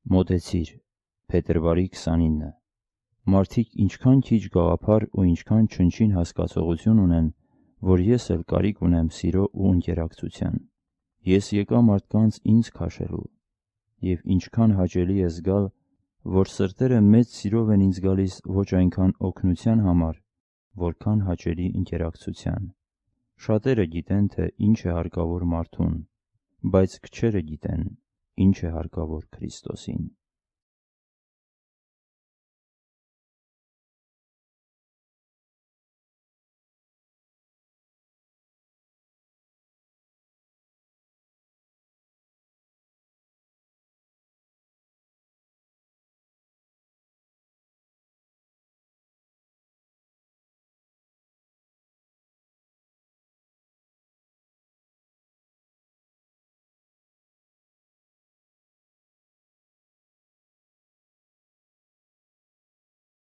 Մոտեցիր, փետրվարի 29։ Մարդիկ ինչքան քիչ գաղափար ու ինչքան չնչին հասկացողություն ունեն, որ ես էլ կարիք ունեմ սիրո ու ընկերակցության։ Ես եկա մարդկանց ինձ քաշելու, և ինչքան հաճելի է զգալ, որ սրտերը մեծ սիրով են ինձ գալիս ոչ այնքան օգնության համար, որքան հաճելի ընկերակցության։ Շատերը գիտեն, թե ինչ է հարկավոր մարդուն, բայց քչերը գիտեն, ինչ է հարկավոր Քրիստոսին։